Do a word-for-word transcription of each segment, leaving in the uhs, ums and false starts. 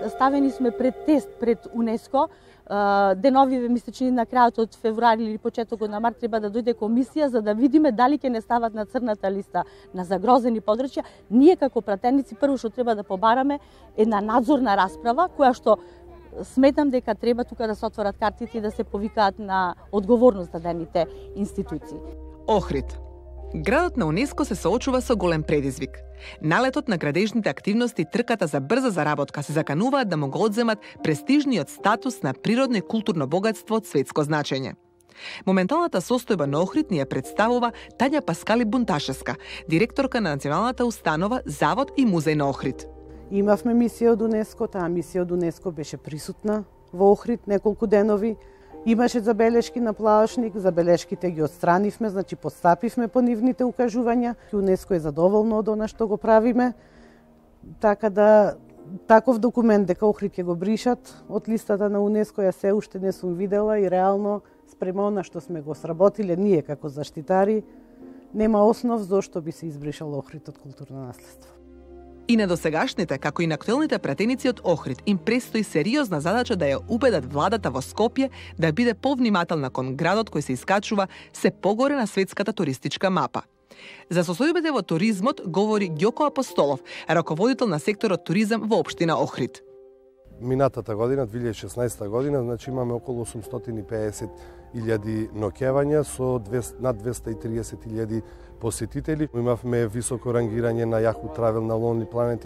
ставени сме пред тест пред УНЕСКО. Деновиве ми се чини на крајот од февруари или почетокот на март треба да дојде комисија за да видиме дали ќе не стават на црната листа на загрозени подрачја. Ние како пратеници прво што треба да побараме една надзорна расправа која што сметам дека треба тука да се отворат картите и да се повикаат на одговорност дадените институции. Охрид. Градот на УНЕСКО се соочува со голем предизвик. Налетот на градежните активности и трката за брза заработка се закануваат да му го одземат престижниот статус на природно и културно богатство од светско значење. Моменталната состојба на Охрид ни ја представува Тања Паскали Бунташевска, директорка на Националната установа Завод и музеј на Охрид. Имавме мисија од УНЕСКО, таа мисија од УНЕСКО беше присутна во Охрид неколку денови. Имаше забелешки на плавашник, забелешките ги отстранивме, значи подстапивме по нивните укажувања. УНЕСКО е задоволно од она што го правиме, така да таков документ дека Охрид ќе го бришат од листата на УНЕСКО ја се уште не сум видела и реално спрема она што сме го сработиле ние како заштитари, нема основ зошто би се избришал Охрид од културно наследство. И на досегашните, како и на актуелните пратеници од Охрид, им престои сериозна задача да ја убедат владата во Скопје да биде повнимателна кон градот кој се искачува се погоре на светската туристичка мапа. За состојбите во туризмот говори Ѓоко Апостолов, раководител на секторот туризам во општина Охрид. Минатата година, две илјади и шеснаесета година, значи имаме околу осумстотини и пеесет илјади ноќевања со над двесте и триесет илјади посетители. Имавме високо рангирање на Yahoo Travel на Lonely Planet.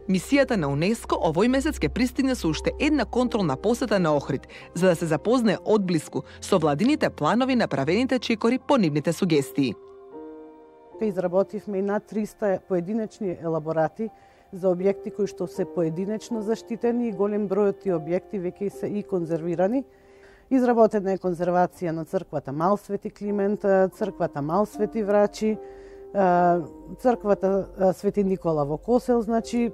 Мисијата на УНЕСКО овој месец ќе пристигне со уште една контролна посета на Охрид, за да се запознае одблиску со владините планови направените чекори по нивните сугестии. Изработивме и над триста поединечни елаборати за објекти кои што се поединечно заштитени и голем број од тие објекти веќе се и конзервирани. Изработена е конзервација на црквата Мал Свети Климент, црквата Мал Свети Врачи, црквата Свети Никола во Косел, значи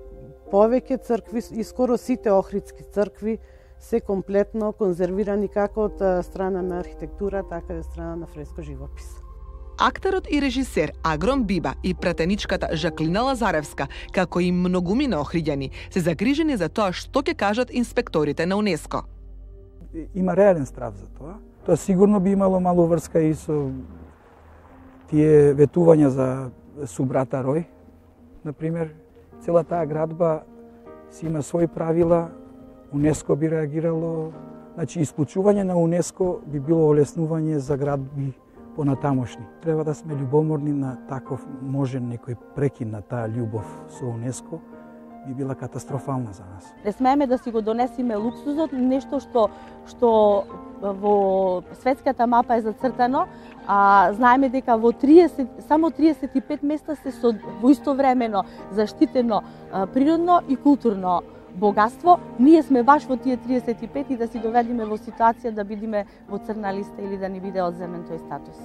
повеќе цркви и скоро сите охридски цркви се комплетно конзервирани како од страна на архитектура, така и од страна на фреско живопис. Актерот и режисер Агрон Биба и пратеничката Жаклина Лазаревска, како и многумина охриѓани, се загрижени за тоа што ќе кажат инспекторите на УНЕСКО. Има реален страв за тоа. Тоа сигурно би имало мало врска и со тие ветувања за субрата Рој. Например, цела таа градба си има своји правила, УНЕСКО би реагирало, значи исклучување на УНЕСКО би било олеснување за градби понатамошни. Треба да сме љубоморни на таков можен некој прекин на таа љубов со УНЕСКО, би била катастрофална за нас. Не смееме да си го донесеме луксузот, нешто што што во светската мапа е зацртано, а знаеме дека во триесет само триесет и пет места се со во истовремено заштитено природно и културно богатство. Ние сме баш во тие триесет и пет и да си доведиме во ситуација да бидеме во црна листа или да ни биде одземен тој статус.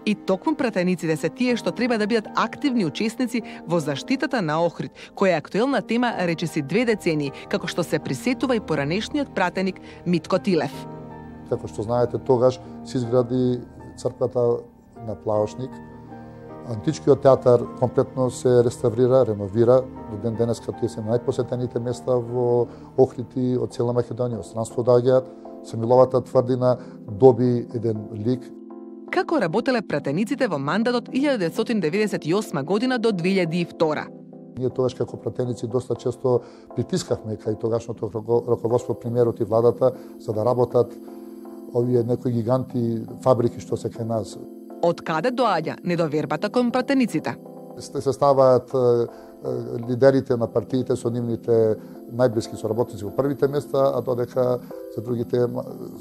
И токму пратениците се тие што треба да бидат активни учесници во заштитата на Охрид, која е актуелна тема речиси две децении, како што се присетува и поранешниот пратеник Митко Тилев. Како што знаете, тогаш се изгради црквата на Плавошник. Античкиот театар комплетно се реставрира, реновира. До ден денеска тие се најпосетените места во Охрид и од цела Македонија. Од странство доаѓаат. Самиловата тврдина доби еден лик. Како работеле пратениците во мандатот илјада деветстотини деветдесет и осма година до две илјади и втора? Ние тогаш како пратеници доста често притискавме кај тогашното раководство, премиерот и владата за да работат овие некои гиганти фабрики што се кај нас. Од каде доаѓа недовербата кон пратениците? Се ставаат лидерите на партиите со нивните најблиски соработници во првите места, а додека за другите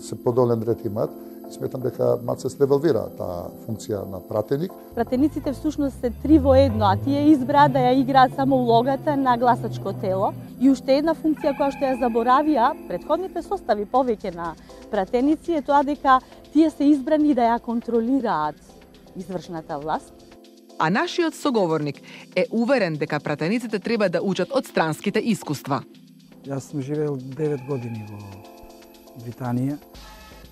се подолен ред имаат. И сметам дека мат се слевелвира таа функција на пратеник. Пратениците всушност се три во едно, а тие избраа да ја играат само улогата на гласачко тело. И уште една функција која што ја заборавија претходните состави повеќе на пратеници е тоа дека тие се избрани да ја контролираат извршната власт. А нашиот соговорник е уверен дека пратениците треба да учат од странските искуства. Јас сум живеел девет години во Британија.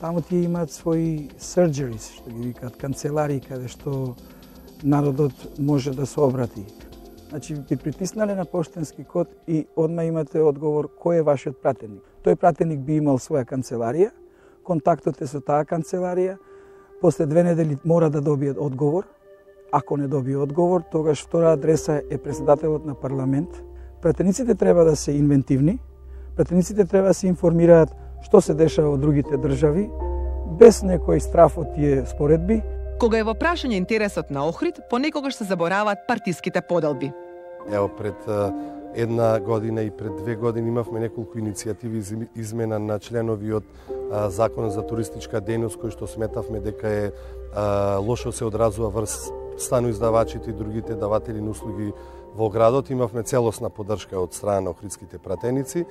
Таму тие имаат своји surgeries, што ги викаат канцеларии, каде што народот може да се обрати. Значи, ви притиснале на поштенски код и одма имате одговор кој е вашиот пратеник. Тој пратеник би имал своја канцеларија, контактот е со таа канцеларија, после две недели мора да добие одговор. Ако не добие одговор, тогаш втора адреса е председателот на парламент. Пратениците треба да се инвентивни, пратениците треба да се информираат што се дешава во другите држави, без некој страф од тие споредби. Кога е во прашање интересот на Охрид, понекогаш се забораваат партиските поделби. Ево, пред една година и пред две години имавме неколку иницијативи за измена на членови од Законот за туристичка дејност, кој што сметавме дека е а, лошо се одразува врз станоиздавачите и другите даватели на услуги во градот. Имавме целосна поддршка од страна на охридските пратеници.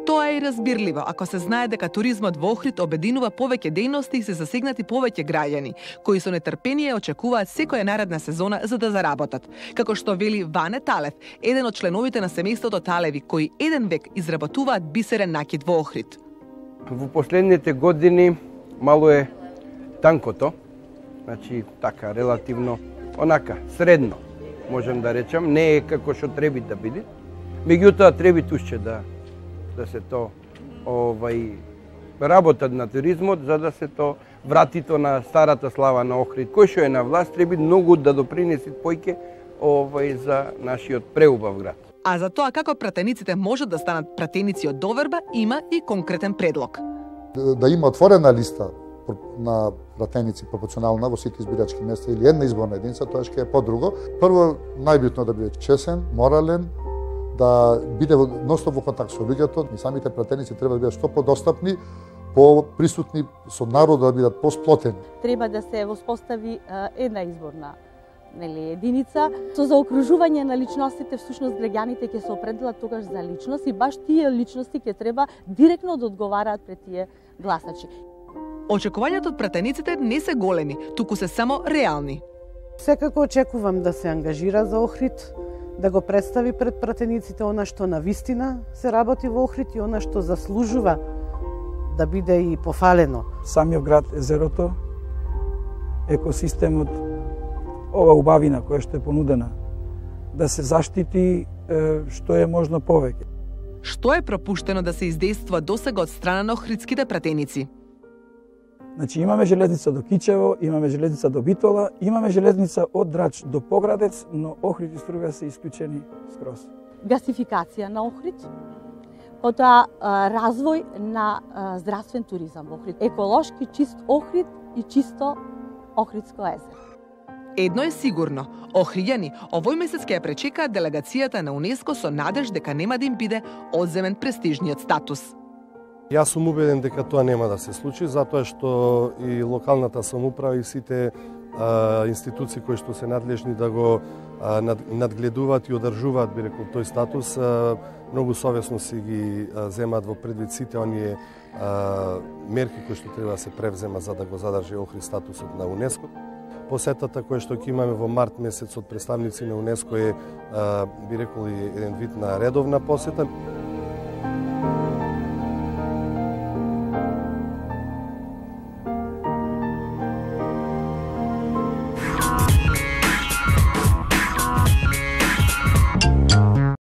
Тоа е и разбирливо, ако се знае дека туризмот во Охрид обединува повеќе дејности и се засегнати повеќе граѓани, кои со нетрпение очекуваат секоја наредна сезона за да заработат. Како што вели Ване Талев, еден од членовите на семејството Талеви, кои еден век изработуваат бисерен накид во Охрид. Во последните години мало е танкото, значи така релативно онака средно, можам да речам, не е како што треба да биде. Меѓутоа треба уште да да се то овај работат на туризмот за да се то врати то на старата слава на Охрид, кој што е на власт треба многу да допринеси појќе овај за нашиот преубав град. А за тоа како пратениците можат да станат пратеници од доверба има и конкретен предлог. Да има отворена листа на пратеници пропорционална во сите избирачки места или една изборна единица, тоа ќе е подруго. Прво, најбитно да биде чесен, морален, да биде ностоп во контакт со луѓето, и самите пратеници треба да бидат што подостапни, по-присутни со народот, да бидат посплотени. Треба да се воспостави една изборна нели единица со заокружување на личностите, всушност граѓаните ќе се определат тогаш за личност и баш тие личности ќе треба директно да одговараат пред тие гласачи. Очекувањата од пратениците не се големи, туку се само реални. Секако очекувам да се ангажира за Охрид, да го представи пред пратениците она што на вистина се работи во Охрид и она што заслужува да биде и пофалено. Самиот град Езерото, екосистемот, ова убавина која што е понудена, да се заштити што е можно повеќе. Што е пропуштено да се издействува досега од страна на охридските пратеници? Значи имаме железница до Кичево, имаме железница до Битола, имаме железница од Драч до Поградец, но Охрид и Струга се исклучени скроз. Гасификација на Охрид, потоа развој на здравствен туризам во Охрид, еколошки чист Охрид и чисто Охридско езеро. Едно е сигурно, охриѓани овој месец ќе ја пречекаат делегацијата на УНЕСКО со надеж дека нема да им биде одземен престижниот статус. Јас сум убеден дека тоа нема да се случи, затоа што и локалната самоуправа и сите а, институции кои што се надлежни да го а, над, надгледуваат и одржуваат, би рекол, тој статус, а, многу совесно си ги а, земаат во предвид сите оние а, мерки кои што треба да се превзема за да го задржи Охрид статусот на УНЕСКО. Посетата која што ќе имаме во март месец од представници на УНЕСКО е, а, би рекол, еден вид на редовна посета.